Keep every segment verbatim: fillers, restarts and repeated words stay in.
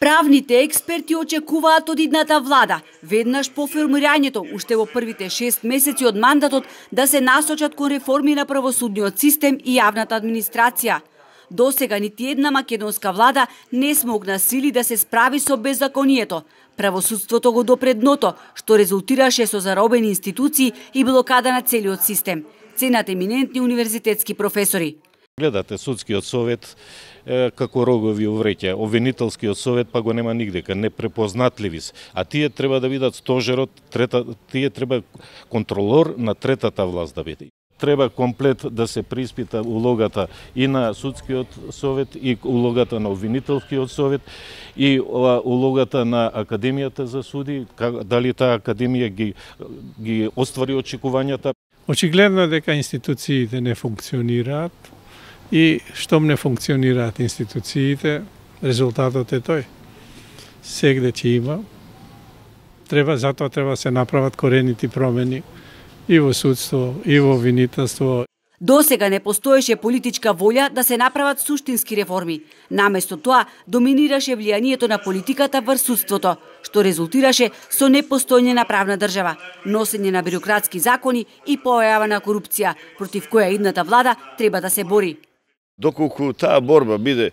Правните експерти очекуваат од идната влада, веднаш по формирањето, уште во првите шест месеци од мандатот, да се насочат кон реформи на правосудниот систем и јавната администрација. Досега нити една македонска влада не смогна сили да се справи со беззаконието. Правосудството го допре дното, што резултираше со заробени институции и блокада на целиот систем. Ценат еминентни универзитетски професори. Гледате судскиот совет е, како рогови увреќа, обвинителскиот совет па го нема нигдека, непрепознатливи се. А тие треба да бидат стожерот, трета, тие треба контролор на третата власт да биде. Треба комплет да се приспита улогата и на судскиот совет, и улогата на обвинителскиот совет, и улогата на Академијата за суди, дали таа академија ги, ги оствари очекувањата. Очигледно дека институциите не функционираат и штом не функционираат институциите, резултатот е тој. Сегде ќе има. Треба, затоа треба се направат корените промени и во судство, и во обвинителство. Досега не постоеше политичка волја да се направат суштински реформи. Наместо тоа доминираше влијанието на политиката врз судството, што резултираше со непостојање на правна држава, носење на бирократски закони и појава на корупција, против која идната влада треба да се бори. Доколку таа борба биде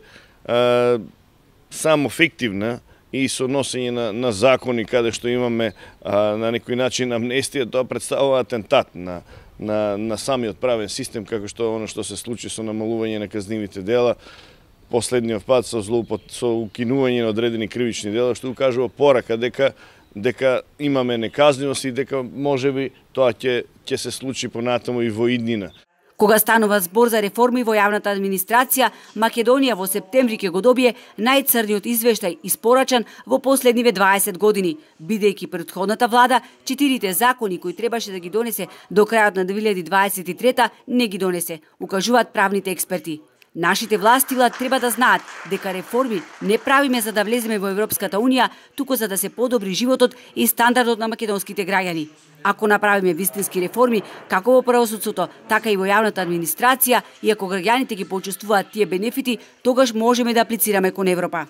а, само фиктивна и со носење на, на закони каде што имаме а, на некој начин амнестија, тоа представува атентат на На, на самиот правен систем, како што оно што се случи со намалување на казнивите дела, последниот пат со злоупот, со укинување на одредени кривични дела, што укажува порака дека дека имаме неказнивост и дека можеби тоа ќе ќе се случи понатаму и во иднина. Кога станува збор за реформи во јавната администрација, Македонија во септември ќе го добие најцрниот извештај испорачан во последниве дваесет години, бидејќи претходната влада четирите закони кои требаше да ги донесе до крајот на две илјади дваесет и трета не ги донесе, укажуваат правните експерти. Нашите власти треба да знаат дека реформи не правиме за да влеземе во Европската Унија, туку за да се подобри животот и стандардот на македонските граѓани. Ако направиме вистински реформи, како во правосудството, така и во јавната администрација, и ако граѓаните ги почувствуваат тие бенефити, тогаш можеме да аплицираме кон Европа.